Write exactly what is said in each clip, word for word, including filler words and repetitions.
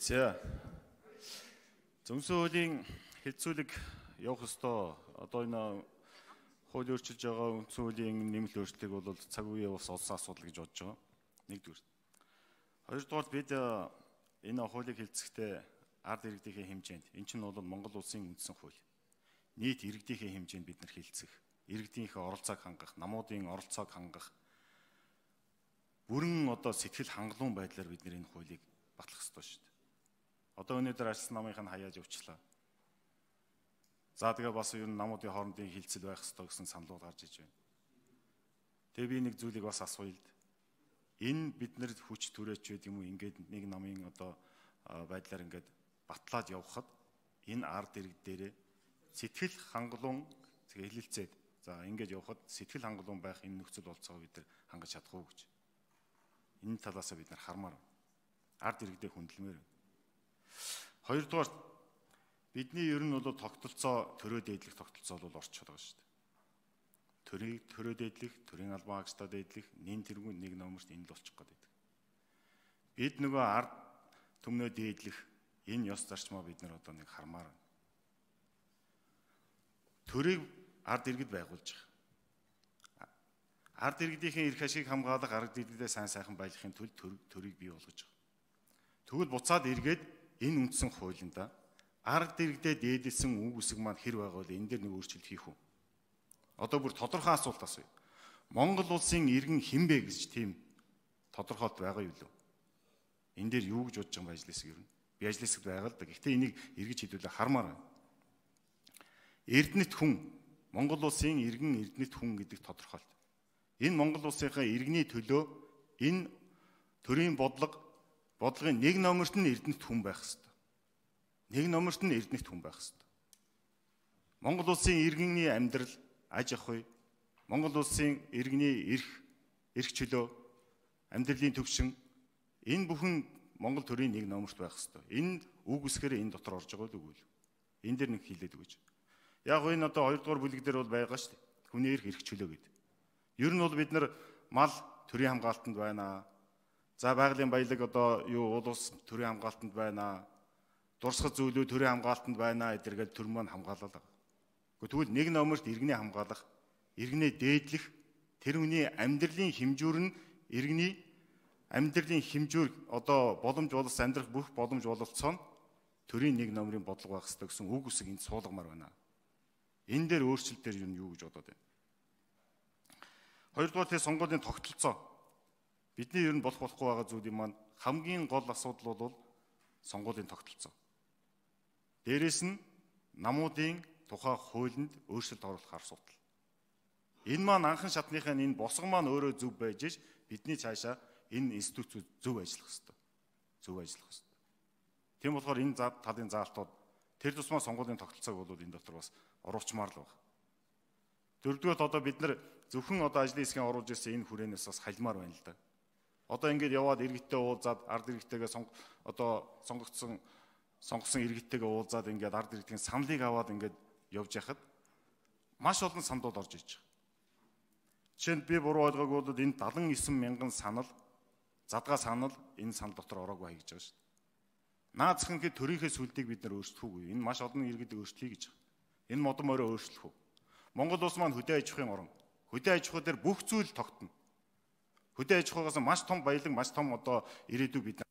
За. Зөвсөн хуулийн хэлцүүлэг явах ёстой. Одоо энэ хууль өөрчилж байгаа үндсэн хуулийн нэмэлт өөрчлөлтийг бол цаг үеийн бас олсон асуудал гэж бодож байгаа. Нэгдүгээр. Хоёрдугаар бид энэ хуулийг хэлцэхдээ ард иргэдийн хэмжээнд энэ чинь бол Монгол улсын үндсэн хууль. Нийт иргэдийн хэмжээнд бид нар хэлцэх, иргэдийнхээ оролцоог хангах, намуудын оролцоог хангах бүрэн одоо сэтгэл хангалуун байдлаар бид нар энэ хуулийг батлах ёстой шүү дээ. Одоо өнөөдөр арчсан намынх нь хаяаж өвчлээ. За тэгээ бас ер нь намуудын хоорондын хилцэл байх ёстой гэсэн саналууд гарч иж байна. Тэгээ би нэг зүйлийг бас асууя л да. Энэ бид нар хүч түрээч байд юм уу ингээд нэг намын одоо байдлаар ингээд батлаад явхад энэ ард иргэд дээрээ сэтгэл хангалуун хэлэлцээд за ингээд явхад сэтгэл хангалуун байх энэ нөхцөл болцоогоо бид нар хангаж чадах уу гэж. Энэ талаасаа бид нар хармаар байна. Ард иргэдэд хүндэлмээр байна. Хоёрдугаар бидний ер нь бол тогтолцоо төрөө дээдлэх тогтолцоо бол орчод байгаа шүү дээ. Төрийг төрөө дээдлэх, төрийн албан хаагчдад дээдлэх, нэн тэргүүн нэг номерт энэ л болчих гээд байдаг. Бид нөгөө ард түмнөө дээдлэх энэ ёс зарчмаа бид нар одоо нэг хармаар байна. Төрийг ард иргэд байгуулж байгаа. Ард иргэдийн эрх ашиг хамгаалах, ард иргэдэд сайн сайхан байлгахын тулд төрийг бий болгож байгаа. Тэгвэл буцаад эргээд энэ үндсэн хуулиндаа ард иргэдэд дээдэлсэн үг үсэг маань хэр байгаа вэ? Энэ дээр нэг өөрчлөлт хийх үү? Одоо бүр тодорхой асуулт асууя. Монгол улсын иргэн хэн бэ гэж тийм тодорхойлт байгаа юу лөө? Энэ дээр юу гэж бодож байгаа юм бэ ажлаас ер нь? Би ажлаас байгаа л да. Гэхдээ энийг эргэж хэлүүлээ хармаар байна. Эрдэнэт хүн, Монгол улсын иргэн эрдэнэт хүн гэдэг тодорхойлт. Энэ Монгол улсынхаа иргэний төлөө энэ төрийн бодлого бодлогын нэг номерт нь эрдэнэт хүн байх ёстой. Нэг номерт нь эрдэнэт хүн байх ёстой. Монгол улсын иргэний амьдрал, аж ахуй, Монгол улсын иргэний эрх, эрх чөлөө, амьдралын төвшин энэ бүхэн Монгол төрийн нэг номерт байх ёстой. Энэ үг үсгээр энэ дотор орж байгаа л үгүй л. Энэ дээр нэг хэлээд өгөөч. Яг гоо энэ одоо хоёрдугаар бүлэг дээр бол байгаа шүү дээ. Хүний эрх, эрх чөлөө гэдэг. Ер нь бол бид нар мал төрийн хамгаалтанд байна. За байгалийн баялаг одоо юу улс төрийн хамгаалтанд байна. Дурсгал зүйлүүд төрийн хамгаалтанд байна. Эдэргээл төр маань хамгаалал байгаа. Тэгвэл нэг номерт иргэний хамгаалах, иргэнээ дээдлэх, тэр хүний амьдралын хэмжүүр нь иргэний амьдралын хэмжүүр одоо боломж боловс амьдрах бүх боломж бололцоо нь төрийн нэг номерын бодлого байх ёстой гэсэн үг үсэг энд суулгамаар байна. Энэ дээр өөрчлөлтээр юу юу гэж бодоод байна. Хоёрдугаар тэр сонгуулийн тогтолцоо. Бидний ер нь болох болохгүй байгаа зүйлийн маань хамгийн гол асуудал бол сонгуулийн тогтолцоо. Дээрээс нь намуудын тухай хуулинд өөрчлөлт оруулах асуудал. Энэ маань анхан шатныхаа энэ босго маань өөрөө зөв байж ш бидний цаашаа энэ институцүүд зөв ажиллах ёстой. Зөв ажиллах ёстой. Тийм болохоор энэ талын заалтууд тэр тусмаа сонгуулийн тогтолцоог бол энэ дотор бас оруулчмаар л байна. Дөрөвдүгээр одоо бид нар зөвхөн одоо ажлын хэсгийн оруулж ирсэн энэ хүрээнээс бас хальмаар байна л да. Одоо ингээд яваад иргэдтэй уулзаад ард иргэдтэйгээ сонг одоо сонгогдсон сонгосон иргэдтэйгээ уулзаад ингээд ард иргэдийн саналыг аваад ингээд явж яхад маш олон саналууд орж иж байгаа. Жишээнд би буруу ойлгоогүй бол энэ дагалан девять мянган санал задгаа санал энэ санал дотор ороогүй хай гэж байгаа шүү дээ. Наад захын төрийнхээ сүлдийг бид нар өөрчлөхгүй. Энэ маш олон иргэд өөрчлөе гэж байгаа. Энэ модон мороо өөрчлөх үү? Монгол улс маань хөдөө аж ахуйн орн. Хөдөө аж ахуй дээр бүх зүйл тогтно. Хөдөө аж ахуйгаас маш том баялаг, маш том одоо ирээдүй бид нар.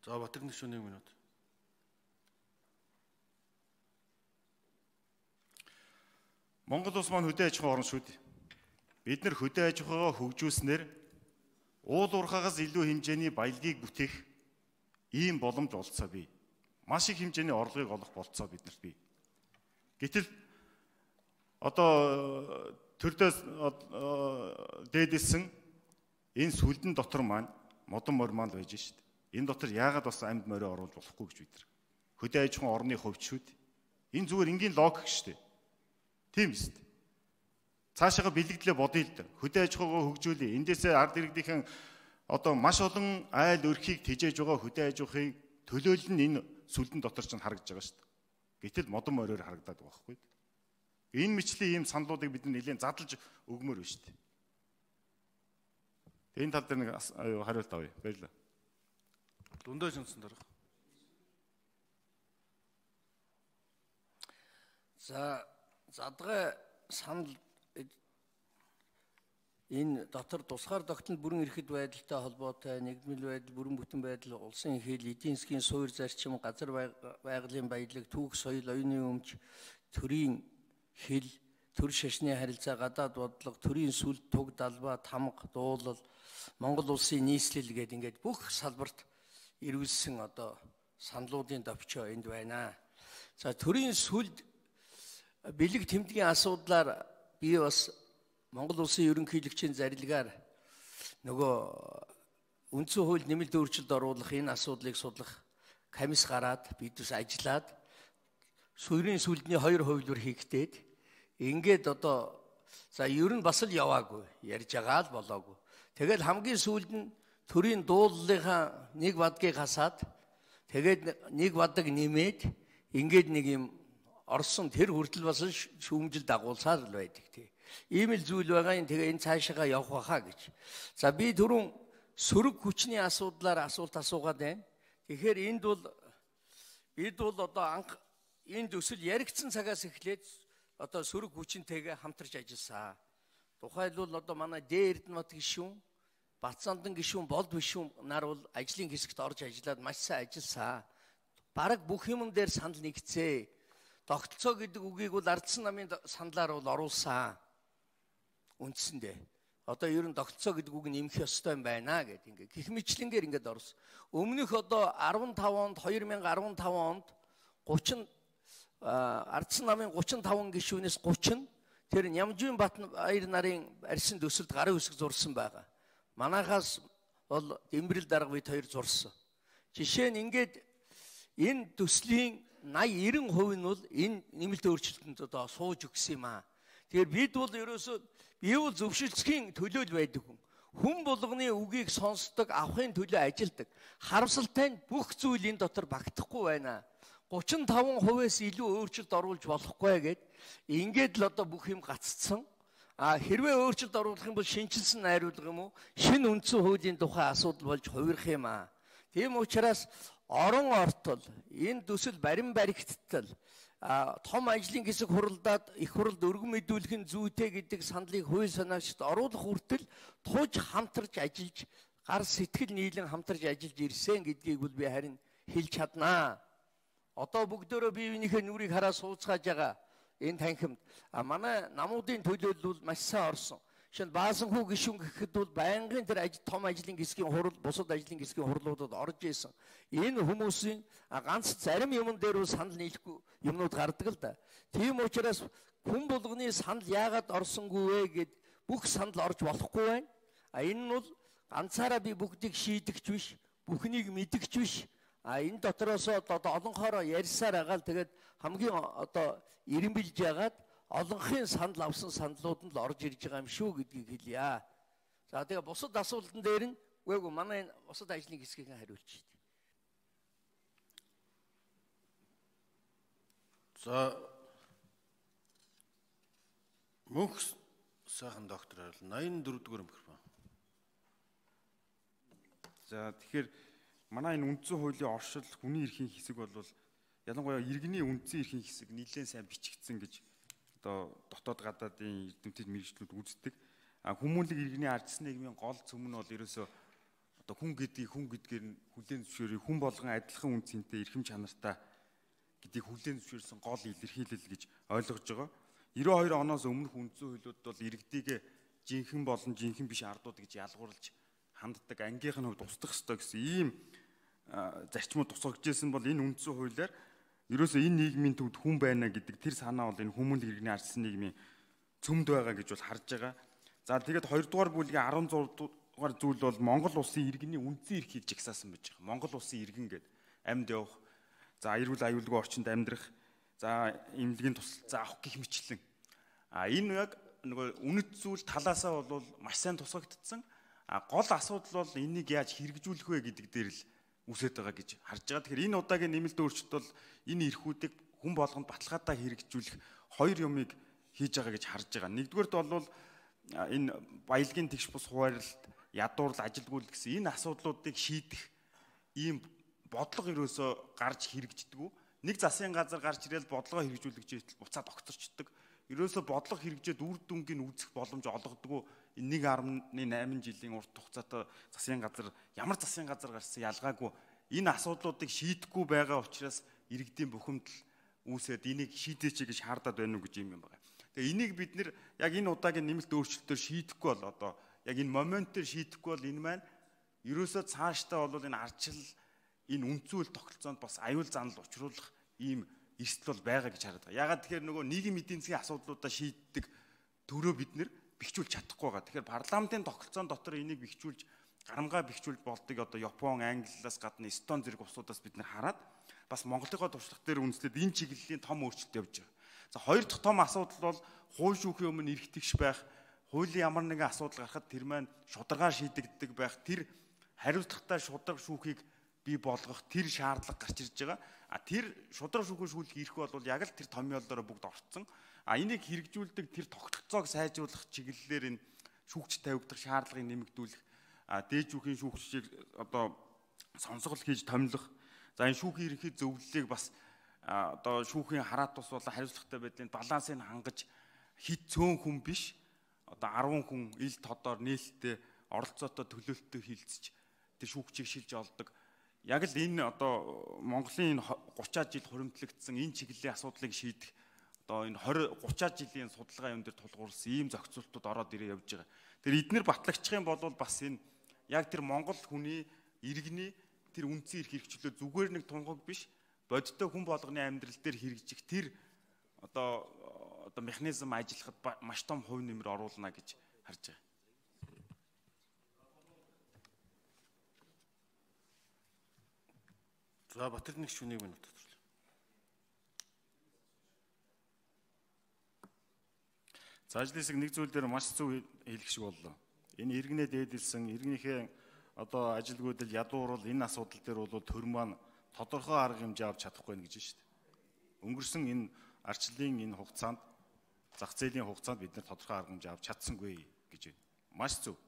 За Батэрдэн гишүүн нэг минут. Монгол улс маань хөдөө аж ахуйн орн шүү дээ. Бид нар хөдөө аж ахуйгаа хөгжүүлснээр уул уурхаагаас илүү хэмжээний баялагийг бүтээх ийм боломж олцоо бий. Маш их хэмжээний орлогыг олох болцоо биднэрт бий. Гэтэл одоо төрдөөс дээдэлсэн энэ сүлдэн дотор маань модон морь маань байж шít. Энэ дотор яагаад бас амьд морио оруулж болохгүй гэж бид нар. Хөдөө аж ахуйн орны хувьд шүү дээ. Энэ зүгээр энгийн логик шүү дээ. Тийм шүү дээ. Цаашаага бэлэгдлээ бодъё л да. Хөдөө аж ахуйгаа хөгжүүлээ. Эндээсээ ард иргэдийн одоо маш олон айл өрхийг тэжээж байгаа хөдөө аж ахуйг төлөөлөл нь энэ сүлдэн дотор ч харагдаж байгаа шүү дээ. Гэтэл модон мориор харагдаад байгаа байхгүй. Энэ мэтлийн ийм саналуудыг бид нэлээд задлж өгмөр байна шүү дээ. Тэгээ энэ тал дээр нэг хариулт авъя. Баярлалаа. Дундаа шүнсэн дарга. За задгай санал энэ дотор тусгаар тогтнол бүрэн эрхэд байдалтай холбоотой нэгдмэл байдал, бүрэн бүтэн байдал, улсын хэл, эдийн засгийн суурь зарчим, газар байгалийн баялаг, түүх соёл, оюуны өмч, төрийн хэл, төр шашны харилцаа, гадаад бодлого, төрийн сүлд, туг, далбаа, тамга, дуулал, Монгол улсын нийслэл гэдэг ингээд бүх салбарт ирүүлсэн одоо саналуудын товчоо энд байна. За төрийн сүлд бэлэг тэмдгийн асуудлаар би бас Монгол улсын ерөнхийлөгчийн зарилгаар нөгөө үндсэн хууль нэмэлт өөрчлөлт оруулах энэ асуудлыг судлах комисс гараад бид бас ажиллаад суурийн сүлдний хоёр хувилбар хийгдээд ингээд одоо за ер нь бас л яваагүй ярьж байгаа л болоогүй. Тэгэл хамгийн сүүлд нь төрийн дууллынхаа нэг бадгийг хасаад тэгээд нэг бадаг нэмээд ингээд нэг юм орсон тэр хүртэл бас шүүмжил дагуулсаар л байдаг тий. Ийм л зүйл байгаа юм. Тэгээ энэ цаашаа явах байхаа гэж. За би түрүүн сөрөг хүчний асуудлаар асуулт асуугаад байна. Тэгэхээр энд бол бид бол одоо анх энэ төсөл яригдсан цагаас эхлээд одоо сөрөг хүчинтэйгээ хамтарч ажилласан. Тухайлбал одоо манай Д Эрдэнэбат гишүүн, Батцандан гишүүн, Болд гишүүн нар бол ажлын хэсэгт орж ажиллаад маш сайн ажилласан. Бараг бүх юм дээр санал нэгцээ. Тогтолцоо гэдэг үгийг бол ардсан намын саналаар бол оруулсан. Үндсэндээ одоо ер нь тогтолцоо гэдэг үг нэмэх ёстой юм байна гэдэг ингээ гих мэтлэнгээр ингээд орсон. Өмнөх одоо арван тав онд две тысячи арван тав онд гучин ардсан намын гучин таван гишүүнээс гучин тэр Нямжийн Батбаяр нарын арьсан төсөлд гарын үсэг зурсан байгаа. Манайхаас бол Дэмбэрэл дарга бид хоёр зурсан. Жишээ нь ингээд энэ төслийн наяа девять хувь нь бол энэ нэмэлт өөрчлөлтөнд одоо сууж өгсөн юм аа. Тэгэхээр бид бол ерөөсөө бие бол зөвшөлтсхийн төлөөл байдаг хүн. Хүн болгоны үгийг сонсдог, авахын төлөө ажилдаг. Харамсалтай нь бүх зүйл энэ дотор багтахгүй байна. гучин таван хувиас илүү өөрчлөлт оруулж болохгүй гэд ингээд л одоо бүх юм гаццсан. А хэрвээ өөрчлөлт оруулах юм бол шинжилсэн найруулга юм уу? Шинэ үндсэн хуулийн тухай асуудал болж хувирах юм аа. Тийм учраас орон ортол энэ төсөл барин баригдтал том ажлын хэсэг хуралдаад их хуралд өргөн мэдүүлэх нь зүйтэй гэдэг саналыг хууль санаагчид оруулах хүртэл туж хамтарч ажиллаж гар сэтгэл нийлэн хамтарч ажиллаж ирсэн гэдгийг бол би харин хэлж чаднаа. Одоо бүгдөө бие биенийхээ нүрийг хараа сууцгааж байгаа энэ танхимд манай намуудын төлөөлөл маш сайн орсон. Жишээ нь Баасанхүү гишүүн гэхэд бол байнгын тэр том ажлын хэсгийн хурал, бусад ажлын хэсгийн хурлуудад орж исэн. Энэ хүмүүсийн ганц зарим юмн дээр бол санал нийлэхгүй юмнууд гардаг л да. Тийм учраас хүн болгоны санал яагаад орсонгүй вэ гэд бүх санал орж болохгүй байна. А энэ нь бол ганцаараа би бүгдийг шийдэгч биш, бүхнийг мэдэгч биш. А энэ дотроос одоо олонхороо ярьсаар агаал тэгээд хамгийн одоо ирэмбэлж яагаад олонхын санал авсан саналууд нь л орж ирж байгаа юм шүү гэдгийг хэлье. За тэгээ бусад асуултан дээр нь үгүй манай бусад ажлын хэсгийг хариулж шít. За мөнх сайхан доктор хариул восемьдесят четыре дугаар микрофон. За тэгэхээр манай энэ үндсэн хуулийн оршил хүний эрхийн хэсэг бол ялангуяа иргэний үндсэн эрхийн хэсэг нэлээд сайн бичигдсэн гэж одоо дотоод гадаадын эрдэмтэд мэргэжлүүд үздэг. А хүмүүнлэг иргэний ардсан нийгмийн гол цөм нь бол ерөөсөө одоо хүн гэдгийг хүн гэдгээр нь хүлээн зөвшөөрөх, хүн болгон адилхан үнцэнтэй эрхэм чанартай гэдгийг хүлээн зөвшөөрсөн гол илэрхийлэл гэж ойлгож байгаа. девяносто two оноос өмнөх үндсэн хуулиуд бол иргэдийг жинхэнэ болон жинхэнэ биш ардууд гэж ялгуурлаж ханддаг, ангийнх нь хувьд устгах ёстой гэсэн ийм зарчмууд тусгаж ирсэн бол энэ үндсэн хуулиар ерөөсөө энэ нийгмийн төвд хүн байна гэдэг тэр санаа бол энэ хүмүүнлэг иргэний ардсан нийгмийн цөмд байгаа гэж бол харж байгаа. За тэгээд хоёр дугаар бүлгийн арван зураг дугаар зүйл бол Монгол улсын иргэний үндсэн эрхийг жагсаасан байж байгаа. Монгол улсын иргэн гэдэг амьд явах, за эрүүл аюулгүй орчинд амьдрах, за эмнэлгийн тусалцаа авах гэх мэтлэн. А энэ яг нөгөө үнэт зүйл талаасаа бол маш сайн тусгагдсан. А гол асуудал бол энийг яаж хэрэгжүүлэх вэ гэдэг дээр л үсэж байгаа гэж харж байгаа. Тэгэхээр энэ удаагийн нэмэлт өөрчлөлт бол энэ эрхүүдийг хүн болгонд баталгаатай хэрэгжүүлэх хоёр юмыг хийж байгаа гэж харж байгаа. Нэгдүгээрт бол энэ баялагын тэгш бус хуваарлалт ядуурл, ажилгүйл гэсэн энэ асуудлуудыг шийдэх ийм бодлого ерөөсөө гарч хэрэгждэг. Нэг засгийн газар гарч ирэл бодлогоо хэрэгжүүлэгч буцаад огцорчдөг. Ерөөсөө бодлого хэрэгжээд үр дүнгийн үүсэх боломж олгодог. Энэ нэг арван найман жилийн урт хугацаатай засгийн газар ямар засгийн газар гарсан ялгаагүй энэ асуудлуудыг шийдэхгүй байгаа учраас иргэдийн бухимдал үүсээд энийг шийдээч гэж хаардаад байна уу гэж юм байна. Тэгээ энийг бид нэр яг энэ удаагийн нэмэлт өөрчлөлтөөр шийдэхгүй бол одоо яг энэ моментээр шийдэхгүй бол энэ маань ерөөсөө цаашдаа бол энэ ардчил энэ үнцүүл тогтолцоонд бас аюул занал учруулах ийм эрсдэл бол байгаа гэж хараад байгаа. Ягаад тэгэхээр нөгөө нийгмийн эдийн засгийн асуудлуудаа шийддэг төрөө бид нэр бэхжүүлж чадахгүй байгаа. Тэгэхээр парламентын тогтолцоон дотор энийг бэхжүүлж гарамгаа бэхжүүлж болдог одоо Япон, Англиас гадна Эстон зэрэг улсуудаас бид нэр хараад бас Монголынхоо туршлага дээр үндэслээд энэ чиглэлийн том өөрчлөлт явж байгаа. За хоёр дахь том асуудал бол хууль шүүхийн өмнө эрх тэгш байх, хуулийн ямар нэгэн асуудал гарахад тэр маань шударгаар шийдэгддэг байх, тэр хариуцлагатай шударга шүүхийг бий болгох тэр шаардлага гарч ирж байгаа. А тэр шударга шүүхийн шүүлэх эрх бол яг л тэр томьёолоор бүгд орцсон. А энийг хэрэгжүүлдэг тэр тогтолцоог сайжруулах чиглэлээр энэ шүүгч тавигдах шаардлагыг нэмэгдүүлэх, а дээд шүүхийн шүүгчийг одоо сонсгол хийж томилох. За энэ шүүхийн ерөнхий зөвлөлийг бас одоо шүүхийн хараат тус болон хариуцлагатай байдлын балансыг хангаж хит цөөн хүн биш одоо арван хүн ил тодоор нээлттэй оролцоотой төлөөлөлтөй хилцэж тэр шүүгчийг шилж олдог. Яг л энэ одоо Монголын гучаад жил хуримтлагдсан энэ чиглэлийн асуудлыг шийдэх одоо энэ двадцать гучаад жилийн судалгаа юм дээр тулгуурласан ийм зохицуултууд ороод ирээ явж байгаа. Тэр эднэр батлагчих юм бол бас энэ яг тэр Монгол хүний иргэний тэр үндсэн эрх хэрэгчлөө зүгээр нэг тунгаг биш бодиттой хүн болгоны амьдрал дээр хэрэгжих тэр одоо одоо механизм ажиллахад маш том хувь нэмэр оруулна гэж харж байгаа. За Батэр нэг шүнийг минут тодлоо. Цаашлаас нэг зүйл дээр маш зөв хэлэх шиг боллоо. Энэ иргэнэ дээдэлсэн иргэнийхээ одоо ажилгүйдэл ядуурвал энэ асуудал дээр бол төр маань тодорхой арга хэмжээ авч чадахгүй байх гэж байна шүү дээ. Өнгөрсөн энэ арчлалын энэ хугацаанд зах зээлийн хугацаанд бид нэр тодорхой арга хэмжээ авч чадсангүй гэж байна. Маш зөв.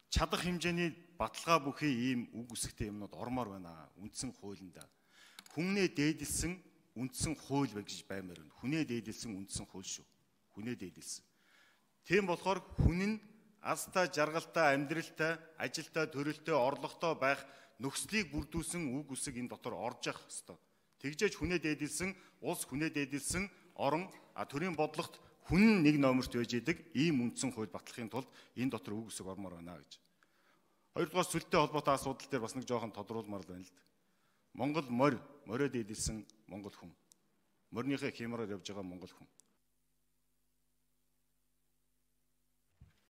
Чадах хэмжээний баталгаа бүхий ийм үг үсгтэй юмнууд ормоор байна. Үндсэн хуулинд. Хүннээ дээдэлсэн үндсэн хууль гэж баймаар байна. Хүнээ дээдэлсэн үндсэн хууль шүү. Хүнээ дээдэлсэн. Тийм болохоор хүн нь азтай, жаргалтай, амьдралтай, ажилтай, төрөлтэй, орлоготой байх нөхцөлийг бүрдүүлсэн үг үсэг энэ дотор орж явах ёстой. Тэгжээж хүнээ дээдэлсэн, улс хүнээ дээдэлсэн, орон а төрийн бодлогот хүн нэг номерт байж идэг ийм үндсэн хууль батлахын тулд энэ дотор үг үсэг ормоор байна гэж. Хоёрдугаар сүлтэй холбоотой асуудал дээр бас нэг жоохон тодруулмаар байна л да. Монгол морь, морио дээдэлсэн Монгол хүн. Морьныхаа хямраар явж байгаа Монгол хүн.